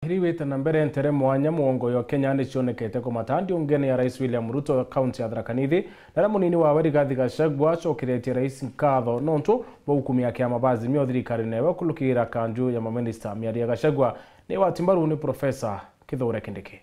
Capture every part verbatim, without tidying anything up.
Iriwite na mbere, ntere mwanya muongo yo Kenya ni cionekete kumata ndiungene ya Rais William Ruto kaunti ya Tharaka Nithi, naria munini wawe Rigathi Gachagua acokeretie rais nkatho nontu bwa ukumia kiama ba Azimio thirikarine ewe kulukira kanju ya maminista. Miario ya Gachagua ni wati mbaru ni Profesa Kithure Kindiki.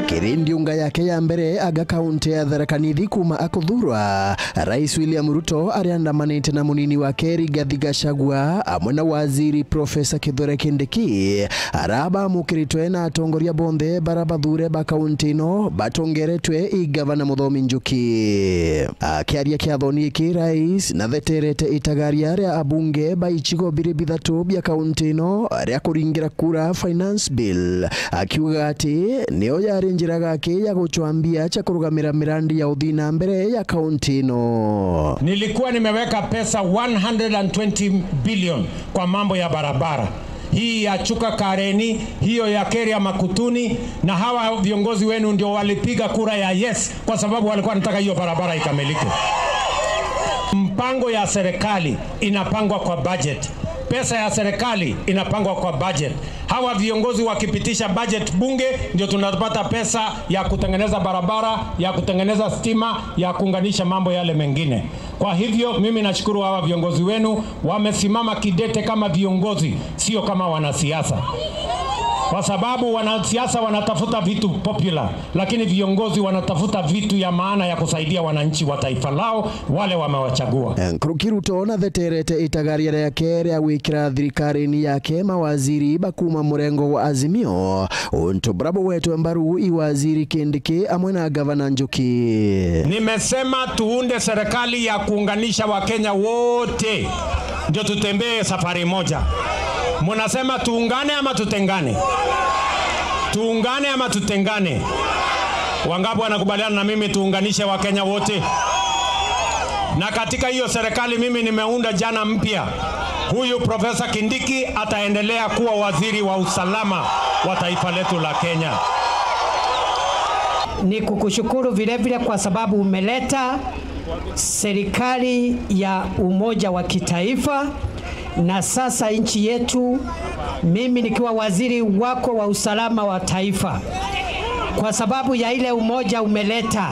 Kiri ndiunga yake ya mbere aga kaunti ya Tharaka Nithi kuma akuthurwa, Rais William Ruto ariandamanite na munini wake Rigathi Gachagua amwe na waziri Profesa Kithure Kindiki, ara bamukiritwe na atongoria bonthe bara bathure ba kaunti ino batongeretwe i gavana Muthomi Njuki. Akiaria kiathoni giki, rais natheterete itagaria ria abunge ba icigo biri bithatu bia kaunti ino ria kuringira kura finance bill, akiuga ati niyo yari njira gaki ya gucwa mbia cia kurugamira mirandi ya uthii na mbere ya kaunti ino. Nilikuwa nimeweka pesa one hundred and twenty billion kwa mambo ya barabara. Hii ya Chuka Kareni, hiyo ya Keria Makutuni, na hawa viongozi wenu ndio walipiga kura ya yes kwa sababu walikuwa wanataka hiyo barabara ikamilike. Mpango ya serikali inapangwa kwa budget. Pesa ya serikali inapangwa kwa budget. Hawa viongozi wakipitisha budget bunge, ndio tunapata pesa ya kutengeneza barabara, ya kutengeneza stima, ya kuunganisha mambo yale mengine. Kwa hivyo, mimi nashukuru hawa viongozi wenu, wamesimama kidete kama viongozi, sio kama wanasiasa. Kwa sababu wanasiasa wanatafuta vitu popular, lakini viongozi wanatafuta vitu ya maana ya kusaidia wananchi wa taifa lao, wale wamewachagua. Nkuruki Ruto natheterete itagaria riake ria gwikira thirikarine yake mawaziri ba kuma murengo wa Azimio, untu buria bugwetwe mbaru i waziri Kindiki amwe na gavana Njuki. Nimesema tuunde serikali ya kuunganisha Wakenya wote, ndio tutembee safari moja. Munasema tuungane ama tutengane? Tuungane ama tutengane? Wangapi wanakubaliana na mimi tuunganishe Wakenya wote? Na katika hiyo serikali mimi nimeunda jana mpya, huyu Profesa Kindiki ataendelea kuwa waziri wa usalama wa taifa letu la Kenya. Ni kukushukuru vile vile kwa sababu umeleta serikali ya umoja wa kitaifa, na sasa nchi yetu, mimi nikiwa waziri wako wa usalama wa taifa, kwa sababu ya ile umoja umeleta,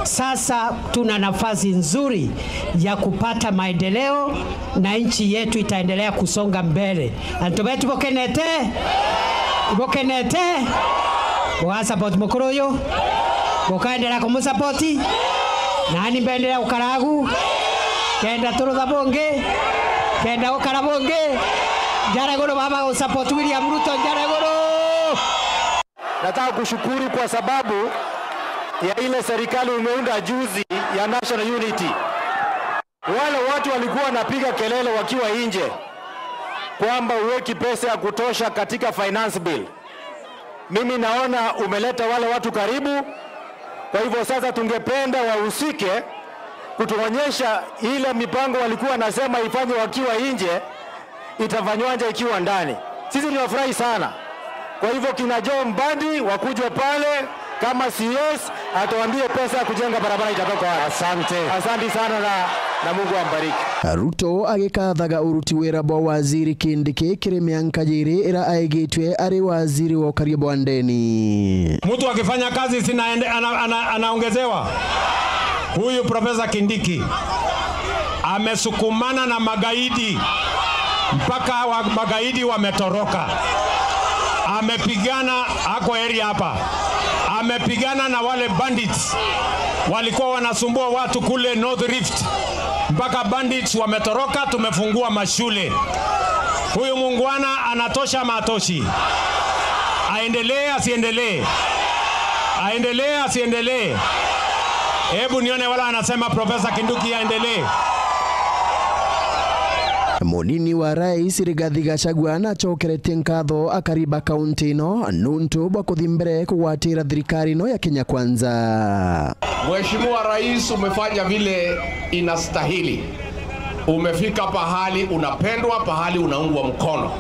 sasa tuna nafasi nzuri ya kupata maendeleo na nchi yetu itaendelea kusonga mbele. Antu betu bukenete? Bukenete? Buga support mukuru uyu? Bukaendelea kumu support? Nani mbendelea gukara agu? Kenda turutha bungi? Kenda gukara bungi? Njara iguru baba gu support William Ruto, njara iguru! Nataka kushukuru kwa sababu ya ile serikali umeunda juzi ya National Unity. Wale watu walikuwa wanapiga kelele wakiwa nje kwamba uweki pesa ya kutosha katika finance bill. Mimi naona umeleta wale watu karibu. Kwa hivyo sasa tungependa wahusike kutuonyesha ile mipango walikuwa wanasema ifanywe wakiwa nje, itafanywaje ikiwa ndani. Sisi tunafurahi sana. Kwa hivyo kina Joe Mbadi wakuje pale kama C S, atuambie pesa ya kujenga barabara itatoka wapi. Asante. Asante sana na, na Mungu ambariki. Ruto agikathaga uruti wira bwa waziri Kindiki kiri mianka jiri ira aigitwe ari waziri wa ukaria bwa ndeni. Mtu akifanya kazi sina ende, ana, ana, anaongezewa. Huyu Profesa Kindiki amesukumana na magaidi mpaka wa, magaidi wametoroka. Amepigana, ako area hapa, amepigana na wale bandits walikuwa wanasumbua watu kule North Rift, mpaka bandits wametoroka. Tumefungua mashule. Huyu muungwana anatosha ama atoshi? Aendelee asiendelee? Aendelee asiendelee? Hebu nione wala anasema Profesa Kindiki aendelee. Munini wa rais Rigathi Gachagua nacokeretie nkatho akari ba kaunti ino nuntu bwa kuthi mbere kugwatira thirikari ino ya Kenya Kwanza. Mheshimiwa Rais, umefanya vile inastahili. Umefika pahali unapendwa, pahali unaungwa mkono.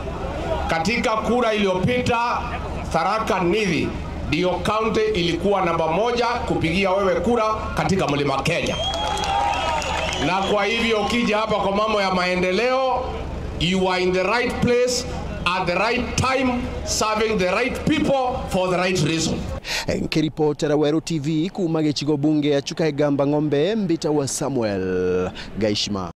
Katika kura iliyopita, Tharaka Nithi ndio kaunti ilikuwa namba moja kupigia wewe kura katika Mlima Kenya. Na kwa hivyo ukija hapa kwa mambo ya maendeleo, You are in the right place at the right time, serving the right people for the right reason. Nkiripotera Weru T V kuuma gicigo bunge ya Chuka Igamba Ng'ombe, mbita wa Samuel Gaishima.